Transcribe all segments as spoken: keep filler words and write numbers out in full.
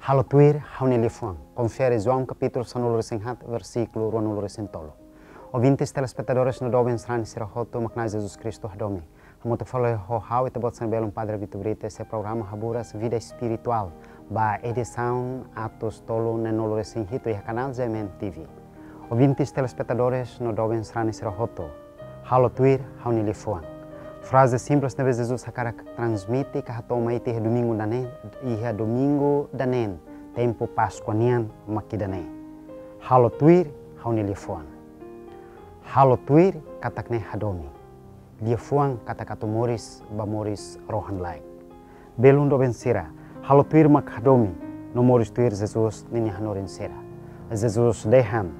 Halo tuir ha'u-nia liafuan. Konfere João kapítulu sanulu-resin-haat, versíkulu ruanulu-resin-tolu. Ouvintes, telespetadores no doben sarani sira hotu, mak Na'i Jesus Kristu hadomi. Hamutuk fali ho ha'u, ita-boot sira belun Padre Vito Brito, iha programa Haburas Vida Espiritual, ba edisaun atus tolu neenulu-resin-hitu iha kanál G M N T V. Ouvintes, telespetadores no doben sarani sira hotu, halo tuir ha'u-nia liafuan. Fraze simples ne'ebé Jesus hakarak transmite ka hato'o mai ita iha domingu ida-ne'e, iha domingu ida-ne'e, tempu Páskua nian mak ida-ne'e. Halo tuir ha'u-nia liafuan. Halo tuir katak ne'e hadomi. Liafuan katak atu moris ba moris rohan-laek. Belun doben sira, halo tuir mak hadomi, no moris tuir Jesus ninia hanorin sira. Jesus dehan: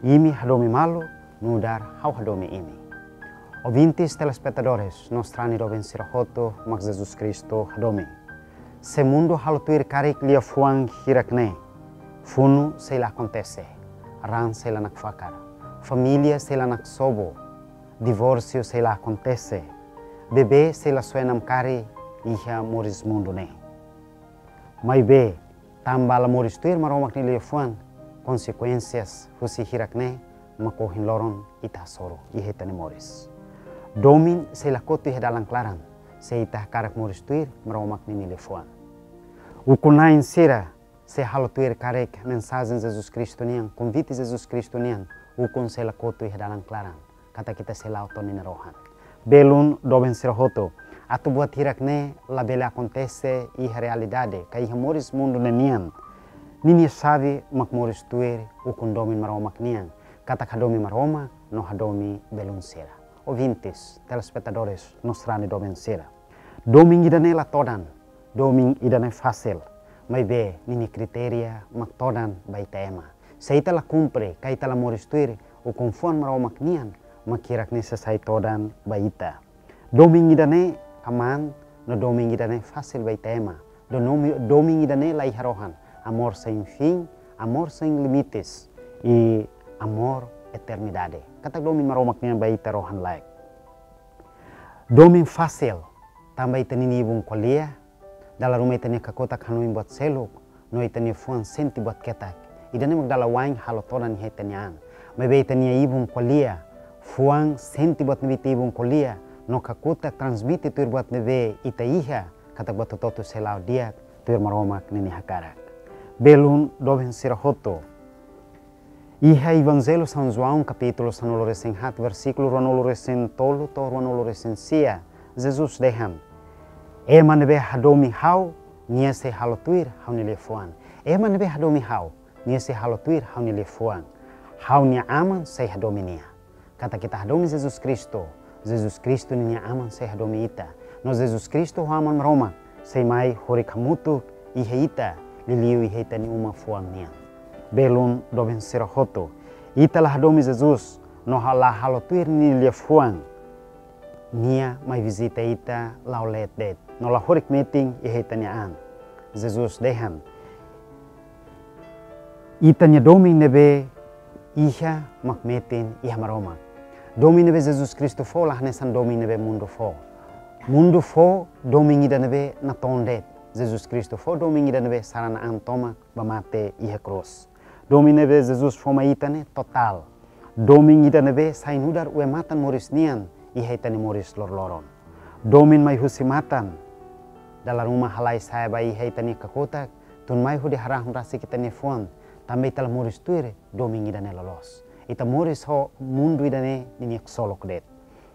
Imi hadomi malu, nu'udar ha'u hadomi imi. Ouvintes, telespetadores no sarani doben sira hotu, mak Jesus Kristu hadomi. Se mundu halo tuir karik liafuan hirak-ne'e, funu sei la akontese, raan sei la nakfakar, família sei la naksobu, divórsiu sei la akontese, bebé sei la soe namkari iha moris mundu ne'e. Maibé, tanba la moris tuir Maromak nia liafuan, konsekuénsias husi hirak-ne'e mak ohin loron ita hasoru iha ita-nia moris. Domin sei la kotu iha dalan klaran, se ita hakarak moris tuir Maromak ninia liafuan. Ukun-na'in sira, se halo tuir karik mensajen Jesus Kristu nian, konvite Jesus Kristu nian, ukun sei la kotu iha dalan klaran, katak ita sei la'o to'o ninia rohan. Belun doben sira hotu, atu buat hirak-ne'e labele akontese iha realidade, ka iha moris mundu ne'e nian, ninia xave mak moris tuir ukun domin Maromak nian, katak hadomi Maromak no hadomi belun sira. Ouvintes, telespetadores no sarani doben sira. Domin ida-ne'e la todan, domin ida-ne'e fasil, maibé ninia kritéria mak todan ba ita ema. Se ita la kumpre, ka ita la moris tuir ukun-fuan Maromak nian, mak hirak-ne'e sei sai todan ba ita. Domin ida-ne'e aman, no domin ida-ne'e fasil ba ita ema. Do nomi-, domin ida-ne'e la iha rohan, amor sem fim, amor sem limites, i amor eternidade. Katak domin Maromak nian ba ita rohan-laek. Domin fasil, tanba ita-nia ibun ko'alia, dala ruma ita-nia kakutak hanoin buat seluk, no ita-nia fuan sente buat ketak. Ida-ne'e mak dala wa'in halo todan iha ita-nia an. Maibé ita-nia ibun ko'alia, fuan sente buat ne'ebé ita ibun ko'alia, no kakutak transmite tuir buat ne'ebé ita iha, katak buat hotu-hotu sei la'o di'ak tuir Maromak ninia hakarak. Belun doben sira hotu. Iha Evanjellu São João kapítulu sanulu-resin-haat, versíkulu ruanulu-resin-tolu to'o ruanulu-resin-sia, Jesus dehan: Ema ne'ebé hadomi ha'u, nia sei halo tuir ha'u-nia liafuan. Ema ne'ebé hadomi ha'u, nia sei halo tuir ha'u-nia liafuan. Ha'u-nia Aman sei hadomi nia. Katak ita hadomi Jesus Kristu, Jesus Kristu ninia Aman sei hadomi ita. No Jesus Kristu ho Aman Maromak sei mai horik hamutuk iha ita, liuliu iha ita-nia uma fuan nian. Belun doben sira hotu, ita la hadomi Jesus, no ha-, la halo tuir nia liafuan, nia mai vizita ita la'o leet de'it, no la horik metin iha ita-nia an. Jesus dehan: Ita-nia domin ne'ebé iha mak metin iha Maromak. Domin ne'ebé Jesus Kristu fó la hanesan domin ne'ebé mundu fó. Mundu fó domin ida ne'ebé natoon de'it. Jesus Kristu fó domin ida ne'ebé sarani an tomak ba mate iha krús. Domin ne'ebé Jesus fó mai ita ne'e totál. Domin ida ne'ebé sai nu'udar oin-matan moris nian iha ita-nia moris loroloron. Domin mai husi matan, dala ruma halai sa'e ba iha ita-nia kakutak, tun mai hodi harahun rasik ita-nia fuan, tanba ita la moris tuir domin ida-ne'e loloos. Ita moris ho mundu ida-ne'e ninia ksolok de'it.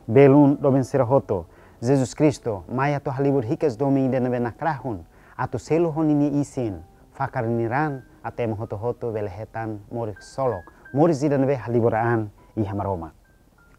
Belun doben sira hotu, Jesus Kristu mai atu halibur hikas domin ida ne'ebé nakrahun, atu selu ho ninia isin, fakar ninia raan, atu ema hotu-hotu bele hetan moris ksolok, moris ida ne'ebé halibur an iha Maromak.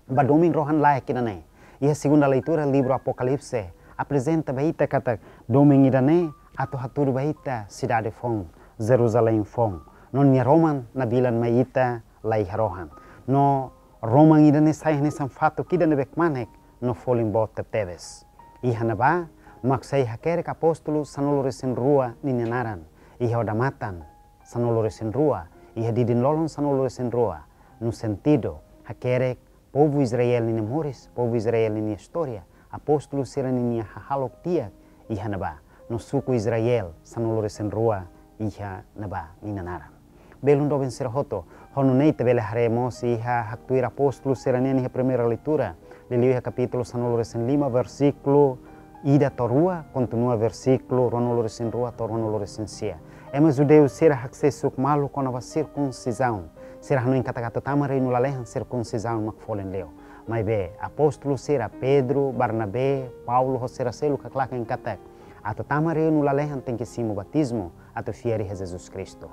Ba domin rohan-laek ida-ne'e, iha segunda leitura livru Apokalipse aprezenta ba ita katak domin ida-ne'e atu hatudu ba ita sidade foun, Jerusalém foun. No nia roman nabilan mai ita la iha rohan. No roman ida-ne'e sai hanesan fatuk ida ne'ebé kmanek no folin boot tebetebes. Iha ne'ebá mak sei hakerek apóstolu sanulu-resin-rua ninia naran, iha odamatan sanulu-resin-rua, iha didin-lolon sanulu-resin-rua, no sentidu hakerek povu Israel ninia moris, povu Israel ninia istória, apóstolu sira ninia hahalok di'ak iha ne'ebá, no suku Israel sanulu-resin-rua iha ne'ebá nia naran. Belun doben sira hotu, ho nune'e ita bele haree mós iha haktuir apóstolu sira-nian iha primeira leitura, liuliu iha kapítulu sanulu-resin-lima, versíkulu ida to'o rua, kontinua versíkulu ruanulu-resin-rua to'o ruanulu-resin-sia. Ema judeu sira haksesu malu kona-ba sirkunsizaun. Sira hanoin katak atu tama reinu lalehan sirkunsizaun mak folin liu. Maibé apóstolu sira Pedro, Barnabé, Paulo ho sira seluk haklaken katak atu tama reinu lalehan tenke simu batizmu atu fiar iha Jesus Kristu.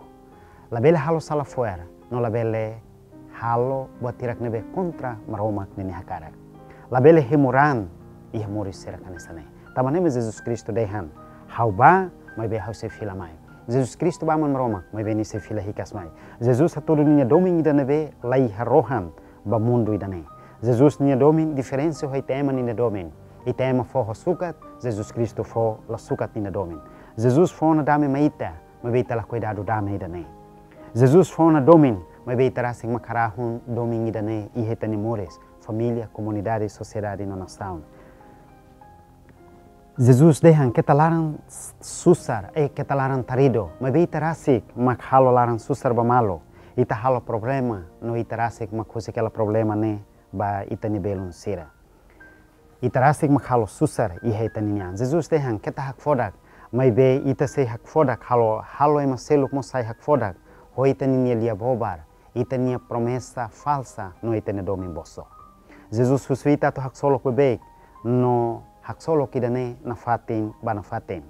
Labele halo sala fo'er, no labele halo buat hirak ne'ebé kontra Maromak ninia hakarak. Labele hemu raan iha moris sira hanesan ne'e. Tanba ne'e mak Jesus Kristu dehan: Ha'u bá, maibé ha'u sei fila mai. Jesus Kristu bá Aman Maromak, maibé nia sei fila hikas mai. Jesus hatudu ninia domin ida ne'ebé la iha rohan ba mundu ida-ne'e. Jesus ninia domin diferensa ho ita ema ninia domin. Ita ema fó ho sukat, Jesus Kristu fó la sukat ninia domin. Jesus fó ona dame mai ita, maibé ita lakohi dadu dame ida-ne'e. Jesus fó ona domin, maibé ita rasik mak karahun domin ida-ne'e iha ita-nia moris, família, komunidade, sosiedade no nasaun. Jesus dehan: Keta laran susar, eh, keta laran taridu, maibé ita rasik mak halo laran susar ba malu. Ita halo problema, no ita rasik mak husik hela problema ne'e ba ita-nia belun sira. Ita rasik mak halo susar iha ita-nia an. Jesus dehan: Keta hakfodak, maibé ita sei hakfodak halo, halo ema seluk mós sai hakfodak ho ita-nia lia-bobar, ita-nia promesa falsa no ita-nia domin bosok. Jesus husu ita atu haksolok beibeik, no haksolok ida-ne'e nafatin ba nafatin.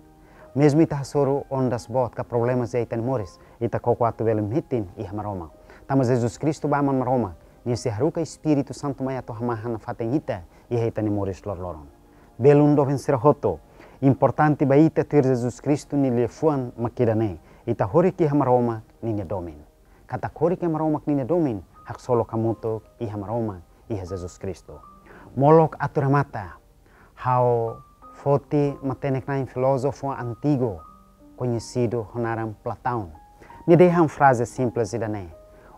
Mezmu ita hasoru ondas boot ka problemas iha ita-nia moris, ita koko atu bele metin iha Maromak. Tanba Jesus Kristu bá Aman Maromak, nia sei haruka Espíritu Santu mai atu hamahan nafatin ita iha ita-nia moris loroloron. Belun doben sira hotu, importante ba ita tuir Jesus Kristu nia liafuan mak ida-ne'e: Ita horik iha Maromak ninia domin. Katak horik iha Maromak ninia domin, haksolok hamutuk iha Maromak, iha Jesus Kristu. Molok atu remata, ha'u foti matenek-na'in filózofu antigu, koñesidu ho naran Platão. Nia dehan fraze simples ida-ne'e: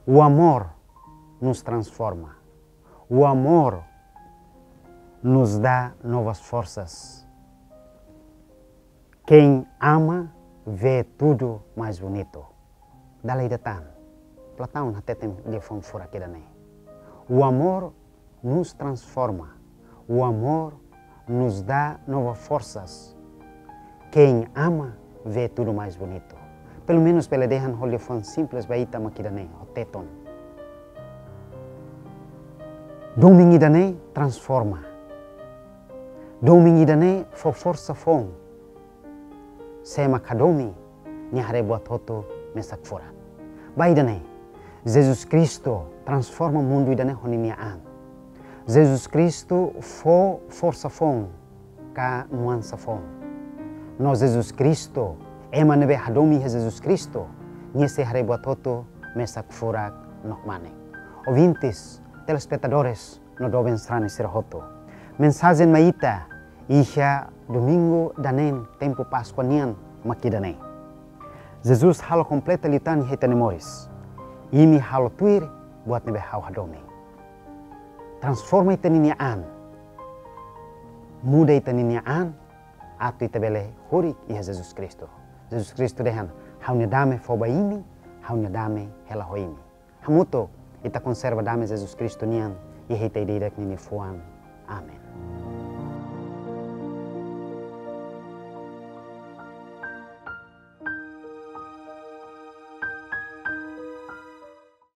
O amor nos transforma. O amor nos dá novas forças. Quem ama vê tudo mais bonito. Dala ida tan, Platão hateten liafuan furak ida-ne'e: O amor nos transforma. O amor nos dá novas forças. Quem ama vê tudo mais bonito. Pelumenus bele dehan ho liafuan simples ba ita mak ida-ne'e, ho Tetun. Domin ida-ne'e transforma. Domin ida-ne'e fó forsa foun. Sé mak hadomi, nia haree buat hotu mesak furak. Ba ida-ne'e, Jesus Kristu transforma mundu ida-ne'e ho ninia an. Jesus Kristu fó forsa foun ka nuansa foun. No Jesus Kristu, ema ne'ebé hadomi iha Jesus Kristu, nia sei haree buat hotu mesak furak no kmanek. Ouvintes, telespetadores, no doben sarani sira hotu. Mensajen mai ita iha Domingu Daneen tempu Páskua nian mak ida-ne'e. Jesus halo kompleta liután iha ita-nia moris. Imi halo tuir buat ne'ebé ha'u hadomi. Transforma ita-nia an. Muda ita-nia an, atu ita bele horik iha Jesus Kristu. Jesus Kristu dehan: Ha'u-nia dame fó ba imi, ha'u-nia dame hela ho imi. Hamutuk ita konserva dame Jesus Kristu nian iha ita ida-idak nia liafuan. Amen.